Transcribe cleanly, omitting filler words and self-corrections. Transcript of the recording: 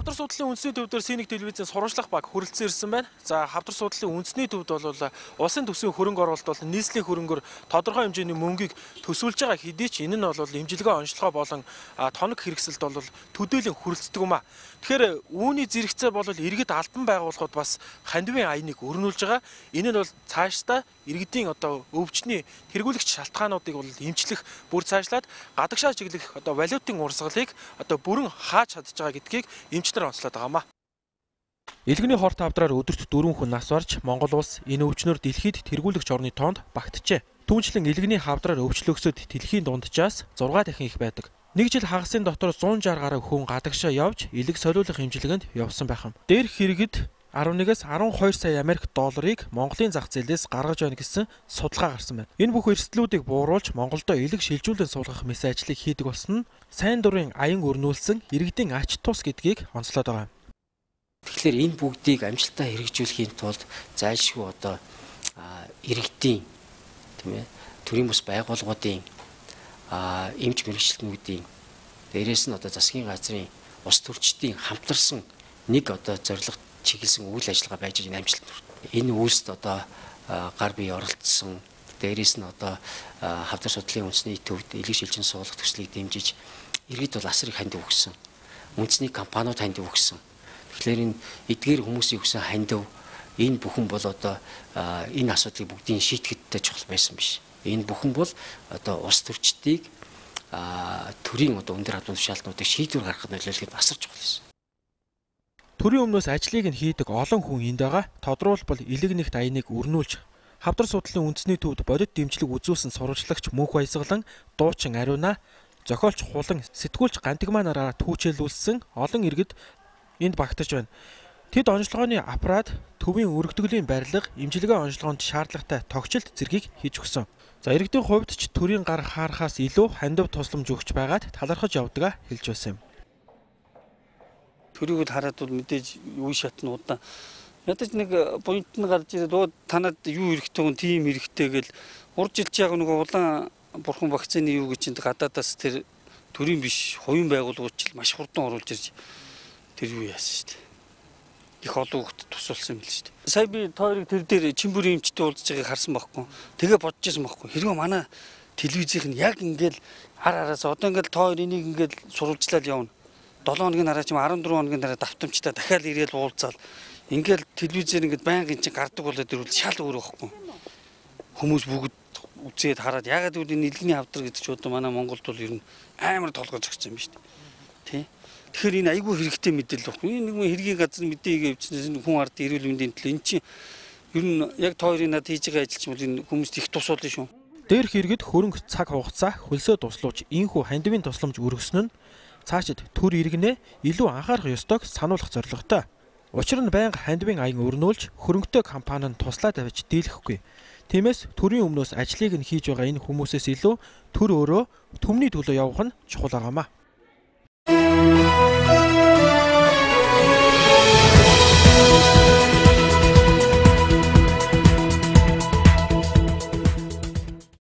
Хавдар судлалын үндэсний төвдөр Синик телевизийн сурвалжлах баг хүрэлцэн ирсэн байна. За хавдар судлалын үндэсний төвд бол улсын төсвийн хөрөнгө оруулалт бол нийслэлийн хөрөнгөөр тодорхой хэмжээний мөнгийг төсвөлж байгаа хэдий ч энэ нь бол имжлэгээ онцлогоо болон тоног хэрэгсэлд бол төдийлөн хүрэлцдэг юм а. Тэгэхээр үүний зэрэгцээ бол иргэд албан байгууллагууд бас хандивын аяныг өрнүүлж байгаа. Энэ нь бол цаашдаа иргэдийн өвчтний тэргүүлэгч шалтгаануудыг бол эмчлэх бүр цаашлаад гадагшаа чиглэх валютын урсгалыг бүрэн хааж чадж байгаа гэдгийг эмчнэр онцлоод байгаамаа. Илгэний хорт хавдраар өдөрт 4 хүн нас барж Монгол улс энэ өвчнөр дэлхийд тэргүүлэгч орны тоонд багтжээ. Түүнчлэн илгэний хавдраар өвчлөгсөд дэлхийн дунджаас 6 дахин их байдаг. Нэг жил хагасын дотор 160 гаруй хүн гадагшаа явж илэг солиулах хэмжлэгэнд явсан байх юм. Дээрх хэрэгэд 11-ээс 12 сая Америк долларыг Монголын зах зээлээс гаргаж байна гэсэн судалгаа гарсан байна. Энэ бүх эрсдлүүдийг бууруулж Монголдо илэг шилжүүлэн суулгах мэс ажлыг хийдэг болсон нь сайн дурын аян өрнүүлсэн иргэдийн ач тус гэдгийг онцлоод байгаа юм. Тэгэхээр энэ бүгдийг амжилттай хэрэгжүүлэхийн тулд зайлшгүй иргэдийн төрийн бус байгууллагуудын эмч мэргэжилтнүүдийн дээрээс нь засгийн газрын ус төрчдийн хамтарсан нэг зорилго чиглэсэн үйл ажиллагаа байж байгаа амжилт. Энэ үйлсд гар бие оролцсон, дээрээс нь хавдар судлалын үндэсний төвд илэг шилжин суулгах төслийг дэмжиж иргэд бол асрыг хандив өгсөн. Үндэсний компаниуд хандив өгсөн. Тэгэхээр энэ эдгээр хүмүүсийн өгсөн хандив энэ бүхэн бол энэ асуудлыг бүгдийг шийтгэдтэй чухал байсан биш. Энэ бүхэн бол ус төрчдийг төрийн өндөр хадуун тушаалтнуудыг шийдвэр гаргахад нөлөөлөхөд асар чухал байсан. Төрийн өмнөөс ажлыг нь хийдэг олон хүн энд байгаа. Тодорхойлбол илэг нэгт аяныг өрнүүлж хавдар судлалын үндэсний төвд бодит дэмжлэг үзүүлсэн сурвалжлагч Мөнх Баясгалан, дуучин Ариуна, зохиолч Хулан, сэтгүүлч Гантигмаа нараараа түүчээлүүлсэн олон иргэд энд багтаж байна. Тэд онцлогооны аппарат, төвийн өргөдгөлийн барилга, имжлэгээ онцлогоонд шаардлагатай тогтчлт зэргийг хийж өгсөн. За иргэдийн хувьд ч төрийн гар хаарахаас илүү хандив тусламж өгч байгаад талархаж явдгаа хэлж байсан юм. Төрийг хараад бол мэдээж үе шатнуудаа ядаж нэг поинт нь гарч ирээд танад юу хэрэгтэй вэ, тийм хэрэгтэй гэл уржилж байгаа нөгөө улаан бурхан вакцины юу гэж чинь гадаадаас тэр төрийн биш хувийн байгууллагууд ч маш хурдан оруулж ирж тэр юу яасан шүү дээ. Их олон хүүхдэд тусалсан юм л шүү дээ. Сая би тойрог тэр дээр чимбүрийн эмчтэй уулзж байгааг харсан байхгүй. Тэгээ бодож байсан байхгүй. Хэрвээ манай телевизийнх нь яг ингээл араас ингээл тойр энийг ингээл сурвалжлаад явна. 7 хоногийн дараа ч 14 хоногийн дараа давтамжтай дахиад ирээл уулзаал ингээл телевизээр ингээд байнгын чинь гардаг болоод ирвэл шал өөр байхгүй. Хүмүүс бүгд үзээд хараад ягаад гэвэл энэ илгэний хавдар гэдэг ч манай Монголд бол ер нь амар толгой зогссон юм шүү дээ. Тий. Тэгэхээр энэ айгүй хэрэгтэй мэдээлэл баггүй. Энэ нэг хэргийн газар мэдээгээ өвчнээс хүн ард эрүүл мэндийн төлөө эн чинь ер нь яг тойрын над хийж байгаа ажил чинь бол энэ хүмүүст их тус болно шүү. Дээрх иргэд хөрөнгө цаг хугацаа хөлсөө туслууч энхүү хандивын тусламж өргөснө нь цаашид төр иргэнэ илүү анхаарах ёстойг сануулгах зорилготой. Учир нь байнга хандивын аян өрнүүлж хөрөнгөтэй компани нь туслаа тавьж дийлэхгүй. Тиймээс төрийн өмнөөс ажлыг нь хийж байгаа энэ хүмүүсээс илүү төр өөрөө төмний төлөө явах нь чухал байгаамаа.